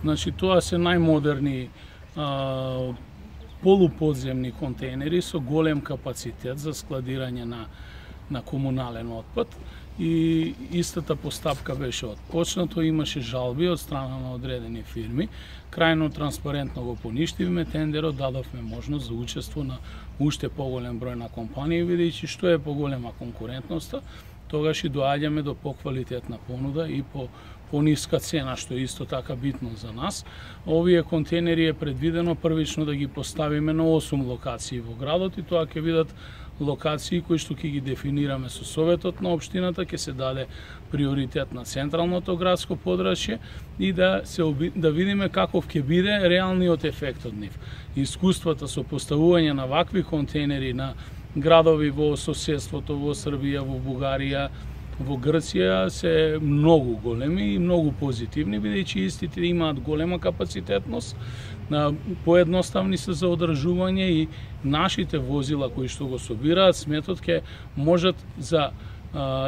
Значи, тоа се најмодерни полуподземни контейнери со голем капацитет за складирање на комунален отпад. И истата постапка беше отпочнато, имаше жалби од страна на одредени фирми. Крајно транспарентно го поништивме тендерот, дадовме можност за учество на уште поголем број на компании, видејќи што е поголема конкурентноста, тогаш и доаѓаме до поквалитетна понуда и по ниска цена, што е исто така битно за нас. Овие контейнери е предвидено првично да ги поставиме на 8 локации во градот и тоа ќе видат локации кои што ќе ги дефинираме со советот на општината, ќе се даде приоритет на централното градско подрачје и да видиме каков ќе биде реалниот ефект од нив. Искуствата со поставување на вакви контейнери на градови во соседството, во Србија, во Бугарија, во Грција се многу големи и многу позитивни, бидејќи истите имаат голема капацитетност, поедноставни се за одржување и нашите возила кои што го собираат сметот ќе можат за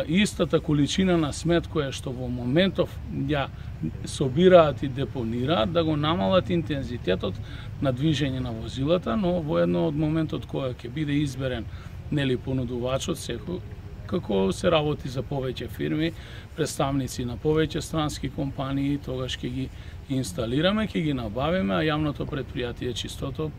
истата количина на смет која што во моментов ја собираат и депонираат, да го намалат интензитетот на движење на возилата, но во едно од моментот која ќе биде изберен понудувачот секој, како се работи за повеќе фирми, представници на повеќе странски компании, тогаш ќе ги инсталираме, ќе ги набавиме, а јавното предпријатие Чистото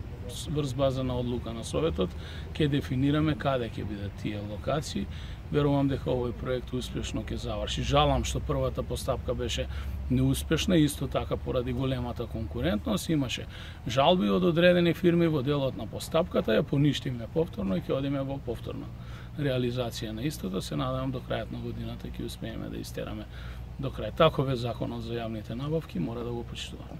врз база на одлука на Советот ќе дефинираме каде ќе бидат тие локации. Верувам дека овој проект успешно ќе заврши. Жалам што првата постапка беше неуспешна, исто така поради големата конкурентност. Имаше жалби од одредени фирми во делот на постапката, ја поништивме повторно и ќе одиме во повторна реализација на истото. Се надевам до крајот на годината ќе успееме да истераме до крај. Таков е законот за јавните набавки, мора да го почитуваме.